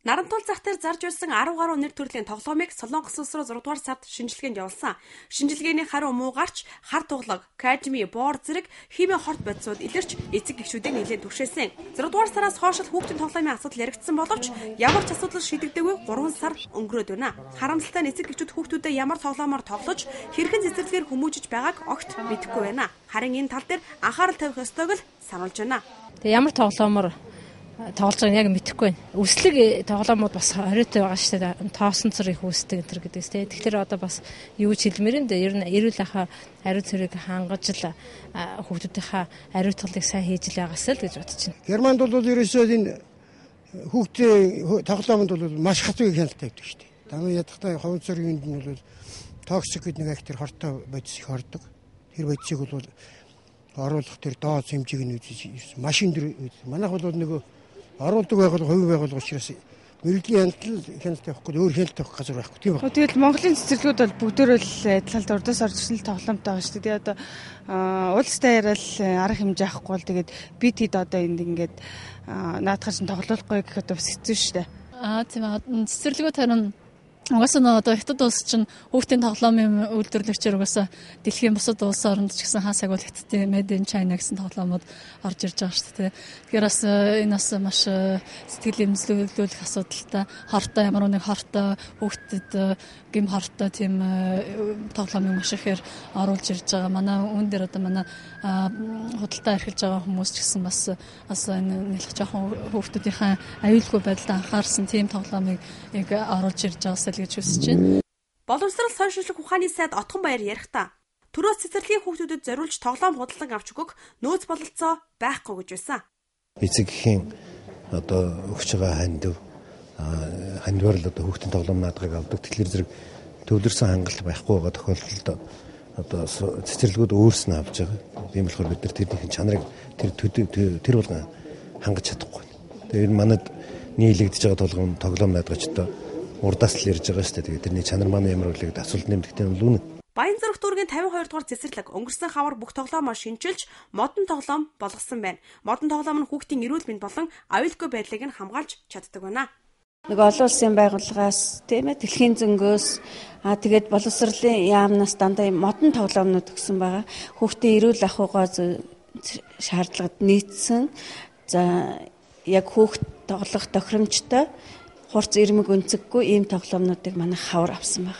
Нарантуул зах дээр зарж байсан 10 гаруй нэр төрлийн тоглоомыг Солонгос улс руу 6 дугаар сард шинжилгээнд явуулсан. Шинжилгээний хариу муу гарч хар туглаг, кадми, боор зэрэг химийн хорт бодисууд илэрч эцэг гишүүдийг нэлээд түгшээсэн. 6 дугаар сараас хойш хүүхдийн тоглоомын асуудал яригдсан боловч ямар ч асуудал шийдэгдээгүй 3 сар өнгөрөөд байна. Харамсалтай нь эцэг гишүүд хүүхдүүдэд ямар тоглоомоор тоглож хэрхэн цэцэрлэгээр хүмүүжиж байгааг огт мэдэхгүй байна. Харин энэ тал дээр анхаарал тавих ёстойг л сануулж байна. Тэгээ ямар тоглоомоор тоглож байгааг яг мэдэхгүй байна. Үслэг тоглоомууд бас хориотой байгаа шүү дээ. Тоосон цэр их үүсдэг энэ төр гэдэгс тийм. Тэгэхээр одоо бас юу ч хэлмээр энэ ер нь эрүүл ахаа ариун цэрэг хангаж л хүүхдүүдийнхаа ариутгалыг сайн хийж л байгаас л гэж бодож байна. Германд бол ерөөсөө энэ хүүхдийн тоглоомд бол маш хатвыг хяналттай байдаг шүү дээ. Тамийн ядахтай ховын цэргийн нь бол токсик гэдэг нэг актер хортой бодис их ордог. Тэр бодисыг бол оруулах тэр дооц хэмжээг нь үзэж машин дээр манайх бол нөгөө оруулдаг байгууллага хувийн байгууллага учраас мэрэгжлийн хяналт явахгүй өөр хяналт авах газар байхгүй тийм байна. Тэгэл Монголын цэцэрлэгүүд бол бүгдөө л адилхан урдаас орж ирсэн тоглоомтой байгаа шүү дээ. Одоо уулстай яриад арга хэмжээ авахгүй бол тэгээд бид хэд одоо энд ингээд наадахаар чинь тоглохгүй гэх одоо бас хэцүү шүү дээ. Тийм цэцэрлэгүүд харин угаасаа одоо хятад улс чинь хүүхдийн тоглоомын үйлдвэрлэгчээр угаасаа дэлхийн бусад улс оронд ч гэсэн хасаг бол хятадын Made in China гэсэн тоглоомод орж ирж байгаа шүү дээ. Тэгэхээр бас энэ бас маш сэтгэл эмзлүүлэх асуудалтай хортой ямар нэг хортой хүүхдэд гим хортой тийм тоглоомыг маш ихээр оруулж ирж байгаа. Манай үүн дээр одоо манай худалдаа эрхэлж байгаа хүмүүс ч гэсэн бас энэ нэг жоохон хүүхдүүдийнхээ аюулгүй байдалд анхаарсан тийм тоглоомыг яг оруулж ирж байгаа гэж хүсэж байна. Боловсрал сошиалчлог ухааны сайд Отгон Баяр ярихдаа төрөөс цэцэрлэгийн хүүхдүүдэд зориулж тоглоом худалдан авч өгөх нөөц бололцоо байхгүй гэж байсан. Эцэгхийн одоо өгч байгаа хандвар л одоо хүүхдийн тоглоом наадгыг авдаг. Тэгэхээр зэрэг төвлөрсөн хангалт байхгүй байгаа тохиолдолд одоо цэцэрлэгүүд өөрснөө авч байгаа. Тийм болохоор бид нар тэрнийхэн чанарыг тэр болгон хангаж чадахгүй. Тэгээд манад нийлэгдэж байгаа тоглоом наадгачтай урдаас л ирж байгаа шүү дээ. Тэгээд тэрний чанар маань ямар үлээд асуулт нэмдэгтэй нь лүүнэ. Баянзүрх дүүргийн 52 дугаар цэцэрлэг өнгөрсөн хавар бүх тоглоомоо шинжилж модон тоглоом болгосон байна. Модон тоглоом нь хүүхдийн эрүүл мэнд болон аюулгүй байдлыг нь хамгаалж чаддаг байна. Нэг олон улсын байгууллагаас тийм ээ дэлхийн зөнгөөс тэгээд боловсролын яамнаас дандаа модон тоглоомнууд өгсөн байгаа. Хүүхдийн эрүүл ахуйгаа шаардлагад нийцсэн. За яг хүүхд тоглох тохиромжтой хурц ирмэг өнцөггүй ийм тоглоомнуудыг манай хавар авсан байна.